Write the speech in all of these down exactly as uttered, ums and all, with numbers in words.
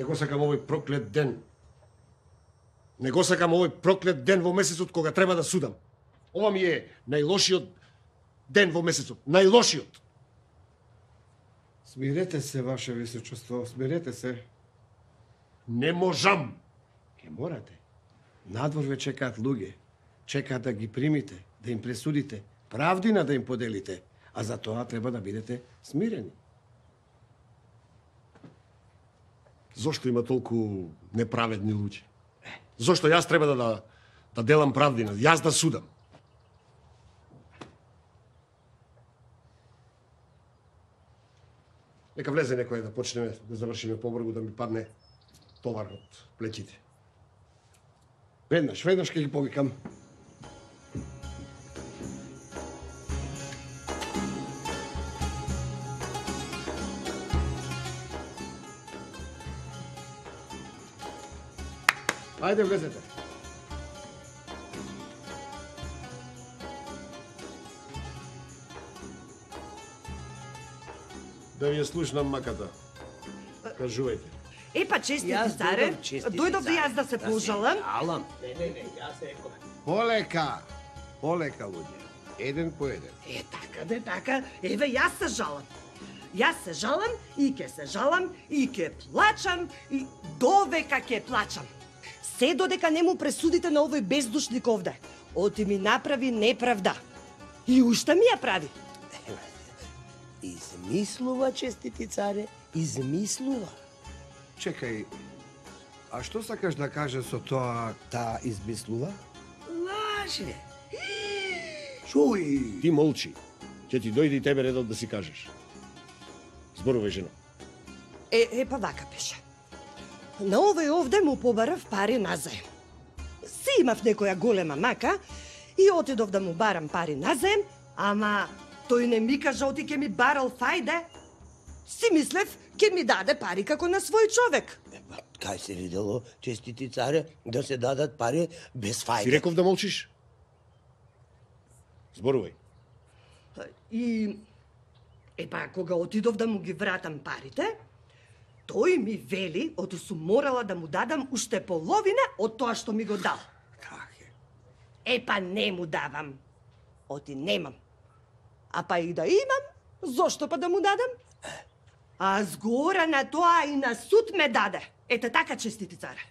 Не го сакам овој проклет ден. Не го сакам овој проклет ден во месецот кога треба да судам. Ова ми е најлошиот ден во месецот. Најлошиот. Смирете се, ваше височество, смирете се. Не можам. Ке морате. Надвор ве чекаат луѓе. Чекаат да ги примите, да им пресудите, правдина да им поделите. А за тоа треба да бидете смирени. Зошто има толку неправедни луѓе? Зошто јас треба да, да, да делам правдина, јас да судам? Нека влезе некој да почнеме да завршиме побргу, да ми падне товар од плеќите. Веднаш, веднаш ке ги повикам. Ајде, влезете. Да ви ја слушнам маката. Кажувајте. Епа, честити, царе. Дојдов да јас да се пожалам. Алам. Не, не, не, јас реков. Полека. Полека, луѓе. Еден по еден. Е, така, де, така. Еве, јас се жалам. Јас се жалам и ке се жалам и ке плачам и довека ке плачам. Се додека не му пресудите на овој бездушник овде. Оти ми направи неправда. И уште ми ја прави. Измислува, честити царе, измислува. Чекај, а што сакаш да кажеш со тоа таа измислува? Лаже. Чуј. Ти молчи. Ќе ти дојде и тебе редот да си кажеш. Зборувај, жено. Е, е, па вака беше. На овој овде му побарав пари назаем. Си имав некоја голема мака и отидов да му барам пари назаем, ама тој не ми кажа оти ке ми барал фајде. Си мислев ке ми даде пари како на свој човек. Кај се видело, честити царе, да се дадат пари без фајде? Си реков да молчиш? Зборувај. И епа кога отидов да му ги вратам парите, тој ми вели, ото сум морала да му дадам уште половина од тоа што ми го дал. Како? Епа не му давам. Оти немам. А па и да имам, зошто па да му дадам? А згора на тоа и на суд ме даде. Ете така, честити царе.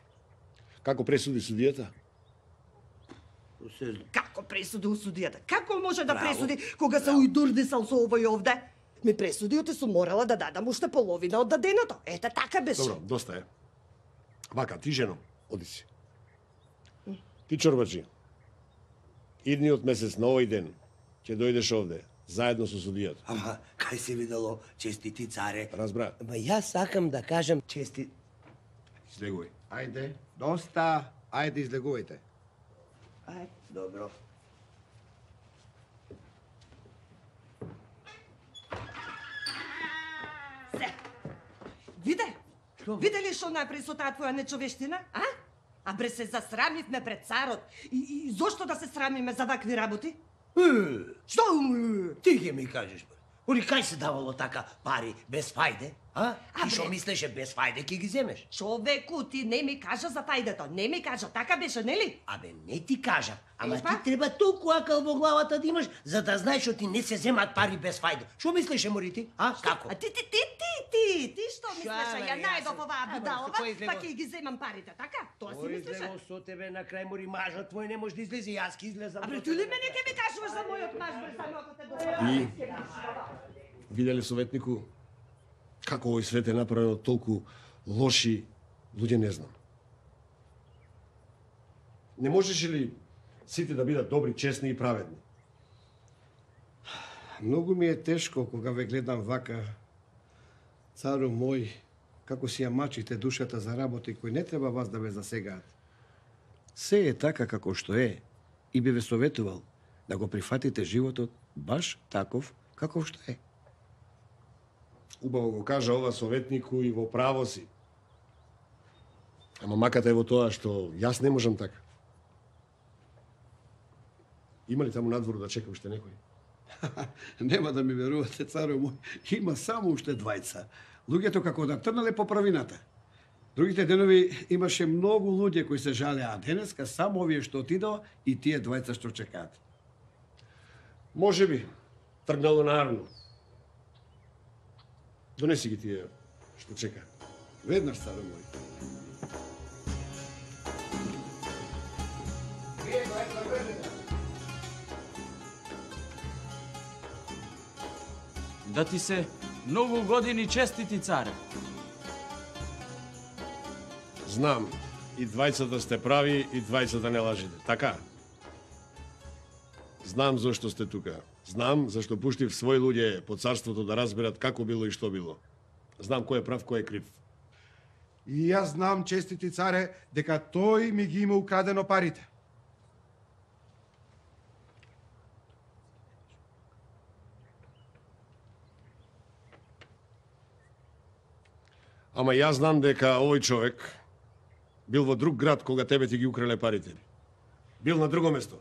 Како пресуди судијата? Како пресуди у судијата? Како може да Браво. пресуди кога се ујдурдисал со овој овде? Ми пресуди, оти сум морала да дадам уште половина од даденото. Ете така беше. Добро, доста е. Вака, ти жено, оди си. Ти чорбаджи, идниот месец на овој ден ќе дојдеш овде, заедно со судијата. Ама, кај се видело, честити царе? Разбра? Ама јас сакам да кажам чести... Излегувај. Ајде, доста, ајде излегувајте. Ај, добро. Се. Виде? Виде ли што направи со таа твоја нечовештина, а? А бре се засрамивме пред царот. И, и зошто да се срамиме за вакви работи? Што? Ти ќе ми кажеш, бе. Оли кај се давало така пари без фајде? А? А, Ти што бре. мислеше без фајде ќе ги земеш? Човеку, ти не ми кажа за фајдето. Не ми кажа, така беше, нели? Абе, не ти кажа, ама Епа? ти треба толку акал во главата да имаш, за да знаеш што ти не се земат пари без фајде. Што мислеше, мори ти? А, како? А ти, ти, ти, ти, ти, ти што мислеше? бе, Ја јас најдов се- оваа Абе, будалова, со кој излегов? па ќе ги земам парите, така? Тоа си Ори мислеше? излегол со тебе на крај, мори мажот твој не може да излезе, јас ќе излезам. А бре, со ти ли тебе. мене ќе ми кажуваш за мојот маж, бре, само ако те И добра? виделе советнику како овој свет е направено толку лоши луѓе, не знам. Не можеше ли сите да бидат добри, честни и праведни? Многу ми е тешко кога ве гледам вака, цару мој, како си ја мачите душата за работи кои не треба вас да ве засегаат. Се е така како што е и би ве советувал да го прифатите животот баш таков каков што е. Убаво го кажа ова советнику и во право си. Ама маката е во тоа што јас не можам така. Има ли таму надвор да чека уште некој? Нема да ми верувате, цару мој, има само уште двајца. Луѓето како да трнале по правината. Другите денови имаше многу луѓе кои се жалеа, а денеска само овие што отидоа и тие двајца што чекаат. Може би, тргнало наравно. Донеси ги тие што чека. Веднаш, царо мој. Да ти се многу години честити, царе. Знам, и двајцата сте прави, и двајцата не лажите. Така? Знам зашто сте тука. Знам зашто пуштив своји луѓе по царството да разберат како било и што било. Знам кој е прав, кој е крив. И јас знам, честити царе, дека тој ми ги има украдено парите. Ама јас знам дека овој човек бил во друг град кога тебе ти ги украле парите. Бил на друго место.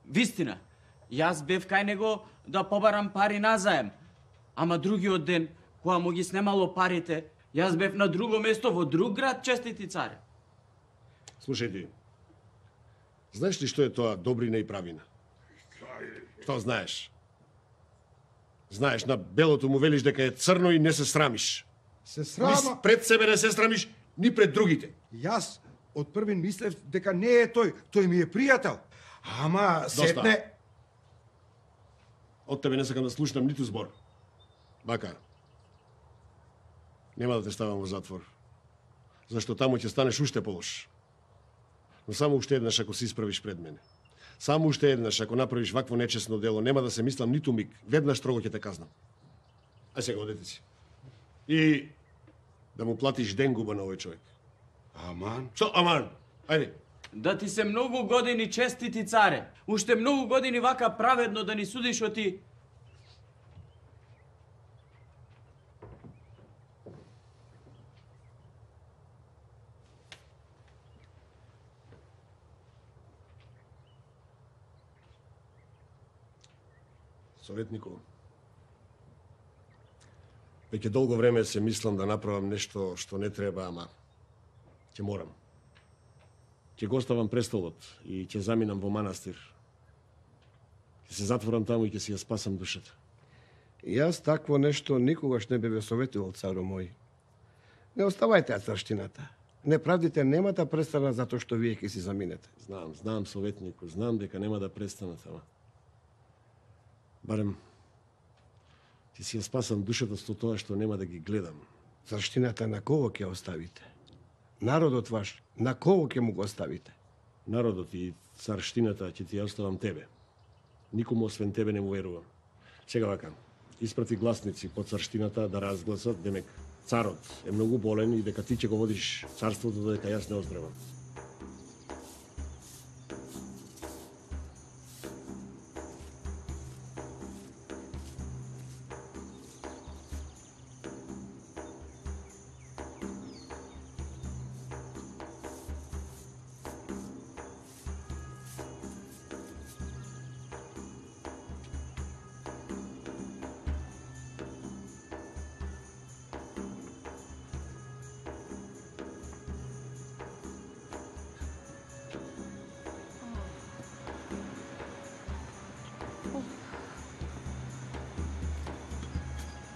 Вистина, јас бев кај него да побарам пари назаем. Ама другиот ден, кога му ги снемало парите, јас бев на друго место во друг град, честити царе. Слушај ти, знаеш ли што е тоа добрина и правина? Што знаеш? Знаеш, на белото му велиш дека е црно и не се срамиш. Се Ни срама. пред себе не се срамиш, ни пред другите. Јас од првин мислев дека не е тој, тој ми е пријател. Ама сетне... Од тебе не сакам да слушнам ниту збор. Бака, нема да те ставам во затвор. Зашто таму ќе станеш уште полош. Но само уште еднаш ако се исправиш пред мене. Само уште еднаш ако направиш вакво нечесно дело, нема да се мислам ниту миг. Веднаш строго ќе те казнам. Ај сега одете си. И да му платиш денгуба на овој човек. Аман. Што, аман? Ајде. Да ти се многу години честити, царе. Уште многу години вака праведно да ни судиш о ти. Советнико, веќе долго време се мислам да направам нешто што не треба, ама ќе морам. Ќе го оставам престолот и ќе заминам во манастир. Ќе се затворам таму и ќе си ја спасам душата. Јас такво нешто никогаш не бе ве советувал, царо мој. Не оставајте ја царштината. Неправдите нема да престанат затоа што вие ќе си заминете. Знам, знам, советнико, знам дека нема да престанат, ама барем ќе си ја спасам душата со тоа што нема да ги гледам. Царштината на кого ќе оставите? Народот ваш, на кого ќе му го оставите? Народот и царштината ќе ти ја оставам тебе. Никому освен тебе не му верувам. Сега вака, испрати гласници по царштината да разгласат, демек царот е многу болен и дека ти ќе го водиш царството додека јас не оздравам.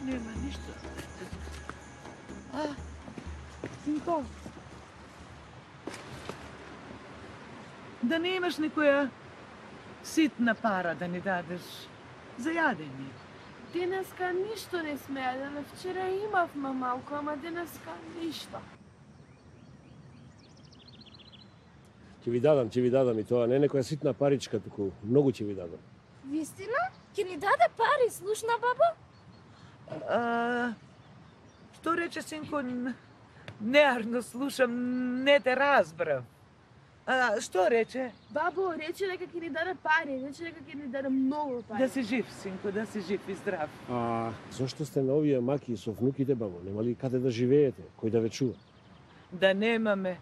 Нема ништо. А, синко. Да не имаш некоја ситна пара да ни дадеш за јадење? Денеска ништо не сме јаделе. Вчера имавме малку, ама денеска ништо. Ќе ви дадам, ќе ви дадам и тоа не е некоја ситна паричка, туку многу ќе ви дадам. Вистина? Ке ни даде пари, слушна баба? А, што рече синко? Неарно слушам, не те разбрав. А, што рече? Бабо, рече дека ќе ни даде пари, рече дека ќе ни даде многу пари. Да си жив, синко, да си жив и здрав. А зошто сте на овие маки со внуките, бабо? Нема ли каде да живеете? Кој да ве чува? Да немаме.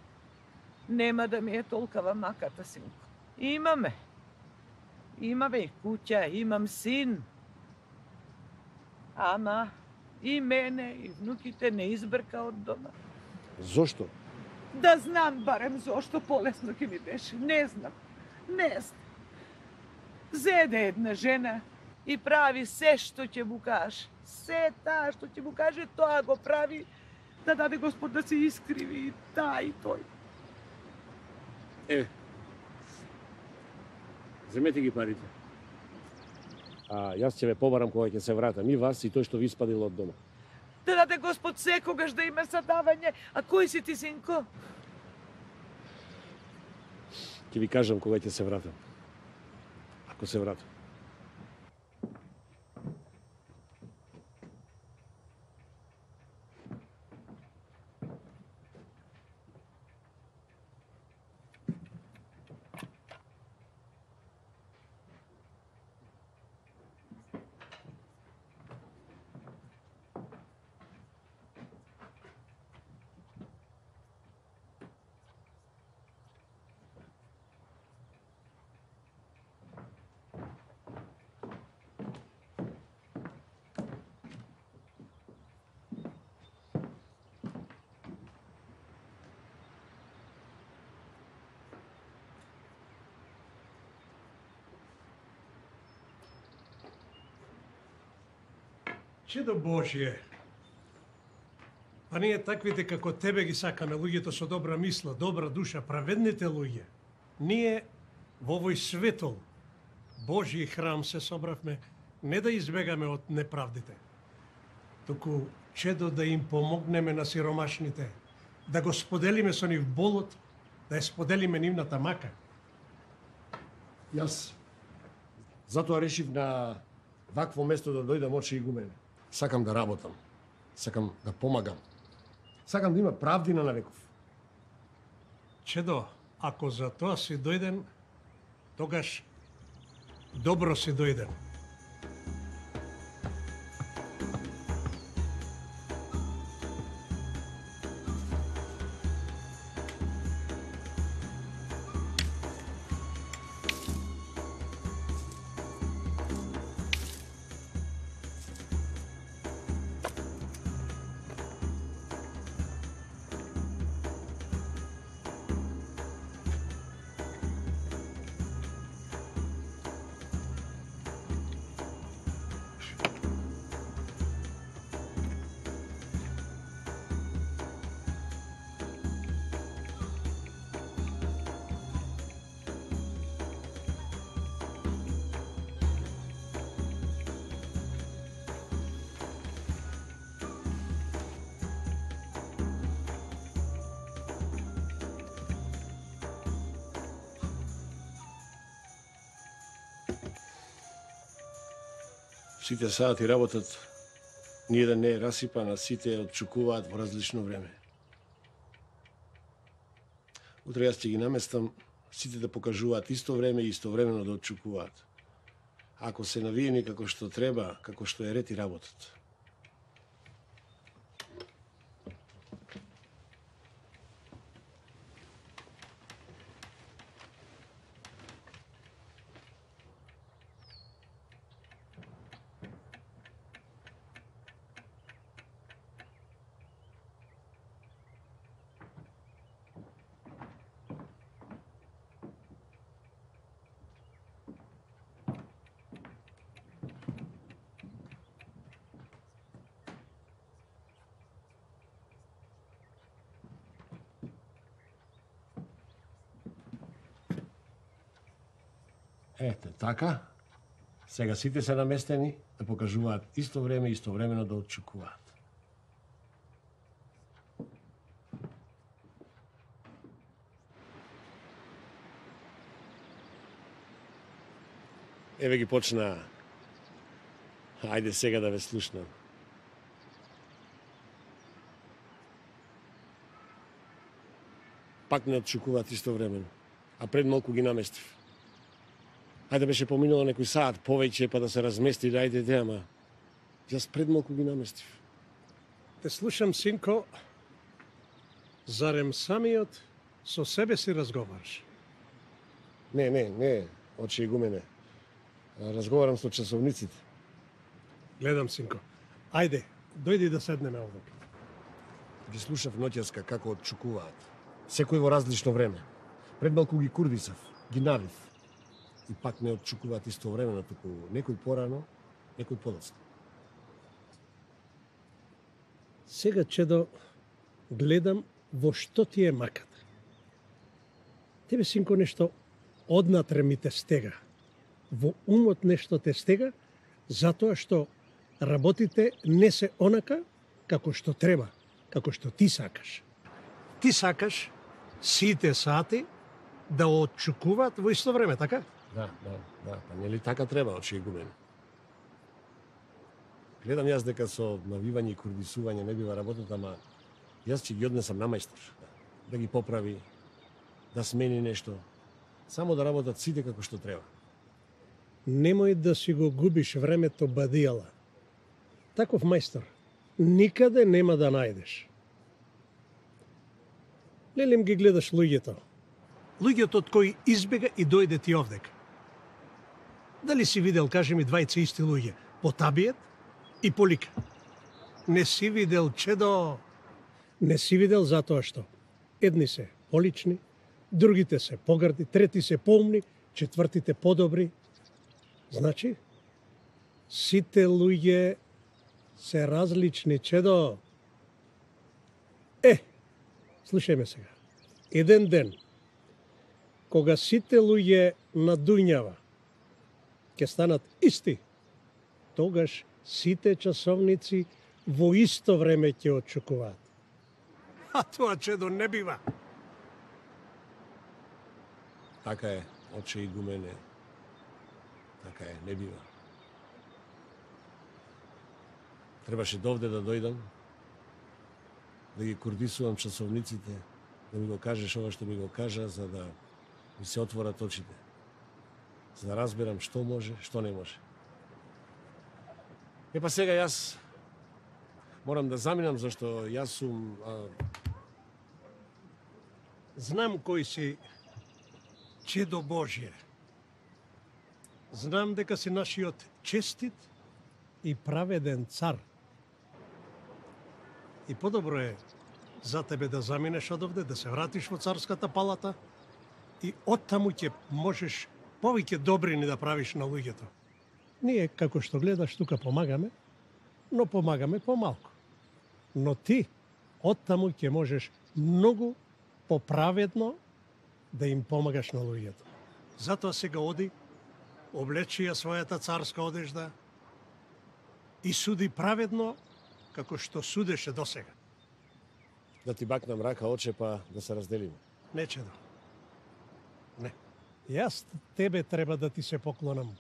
Нема да ми е толкава маката, синко. Имаме. Имаме и куќа, имам син. Ама и мене, и внуките не избрка од дома. Зошто? Да знам барем зошто полесно ќе ми беше. Не знам. Не знам. Зеде една жена и прави се што ќе му каже. Се таа што ќе му каже, тоа го прави да даде Господ да се искриви и таа и тој. Е, земете ги парите. А јас ќе ве побарам кога ќе се вратам, и вас и тој што ви испадил од дома. Да даде Господ секогаш да има задавање. А кој си ти, синко? Ќе ви кажам кога ќе се вратам. Ако се вратам. Чедо Божие, па ние таквите како тебе ги сакаме, луѓето со добра мисла, добра душа, праведните луѓе. Ние во овој светол, Божји храм се собравме, не да избегаме од неправдите, туку чедо да им помогнеме на сиромашните, да го споделиме со нив болот, да ја споделиме нивната мака. Јас затоа решив на вакво место да дојдам очи игумене. Сакам да работам, сакам да помагам, сакам да има правдина на веков. Чедо, ако за тоа си дојден, тогаш добро си дојден. Сите сати работат, ниеден не е расипан, а сите отчукуваат во различно време. Утре јас ќе ги наместам сите да покажуваат исто време и истовремено да отчукуваат. Ако се навиени како што треба, како што е ред и работат. Ете, така. Сега сите се наместени да покажуваат исто време и истовремено да отчукуваат. Еве ги почна. Ајде сега да ве слушнам. Пак не отчукуваат истовремено, а пред малку ги наместив. Ајде беше поминало некој саат повеќе па да се размести, да ајде де, ама јас пред малку ги наместив. Те слушам, синко, зарем самиот со себе си разговараш? Не, не, не, очи игумене. Разговарам со часовниците. Гледам, синко. Ајде, дојди да седнеме овде. Ги слушав ноќеска како отчукуваат. Секој во различно време. Пред малку ги курдисав, ги навив. И пак не отчукуваат истовремено, туку некој порано, некој подоцна. Сега, Чедо, гледам во што ти е маката. Тебе, синко, нешто однатре ми те стега. Во умот нешто те стега, затоа што работите не се онака како што треба, како што ти сакаш. Ти сакаш сите сати да отчукуваат во исто време, така? Да, да, да, па нели така треба, очи гумен. Гледам јас дека со навивање и курдисување не бива работата, ама јас ќе ги однесам на мајстор. Да ги поправи, да смени нешто. Само да работат сите како што треба. Немој да си го губиш времето бадијала. Таков мајстор никаде нема да најдеш. Лелем ги гледаш луѓето. Луѓето од кои избега и дојде ти овдека. Дали си видел, кажи ми, двајца исти луѓе, по табиет и по лика? Не си видел, Чедо. Не си видел затоа што едни се полични, другите се погарди, трети се поумни, четвртите подобри. Значи, сите луѓе се различни, Чедо. Е, слушај ме сега. Еден ден, кога сите луѓе на дуњава ќе станат исти, тогаш сите часовници во исто време ќе отчукуваат. А тоа, Чедо, не бива. Така е, оче и гумене. Така е, не бива. Требаше довде да дојдам, да ги курдисувам часовниците, да ми го кажеш ова што ми го кажа, за да ми се отворат очите. За да разберам што може, што не може. Е па сега јас морам да заминам, зашто јас сум... А... Знам кој си, Чедо Божје. Знам дека си нашиот честит и праведен цар. И подобро е за тебе да заминеш од овде, да се вратиш во царската палата и оттаму ќе можеш повеќе добрини да правиш на луѓето. Ние, како што гледаш, тука помагаме, но помагаме помалку. Но ти, оттаму ќе можеш многу поправедно да им помагаш на луѓето. Затоа сега оди, облечи ја својата царска одежда и суди праведно, како што судеше досега. Да ти бакнам рака, оче, па да се разделиме. Не, Чедо. Не. Јас тебе треба да ти се поклонам.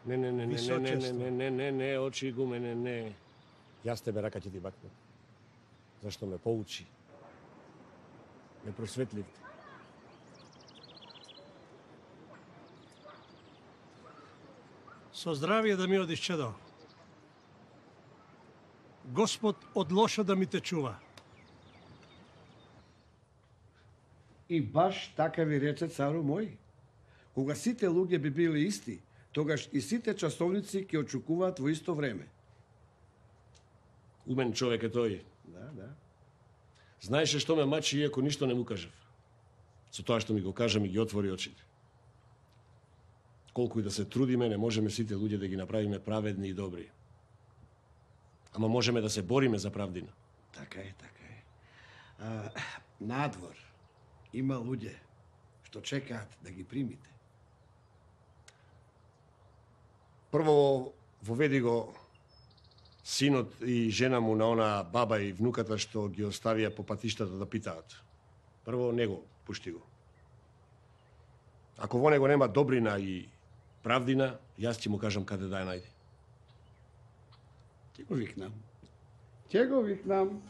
Не, не, не, не, не, не, не, не, не, не, не, очи гумене, не. Јас тебе рака ќе ти бакнам. Зашто ме поучи. Ме просветли. Со здравие да ми одиш, Чедо. Господ од лошо да ми те чува. И баш така ви рече цару мој. Кога сите луѓе би били исти, тогаш и сите часовници ќе очукуваат во исто време. Умен човек е тој. Да, да. Знаеше што ме мачи, иако ништо не му кажав. Со тоа што ми го кажа, ми ги отвори очите. Колку и да се трудиме, не можеме сите луѓе да ги направиме праведни и добри. Ама можеме да се бориме за правдина. Така е, така е. А, надвор има луѓе што чекаат да ги примите. Прво воведи го синот и жена му на она баба и внуката што ги оставија по патиштата да питаат. Прво него пушти го. Ако во него нема добрина и правдина, јас ќе му кажам каде да ја најде. Ќе го викнам. Ќе го викнам.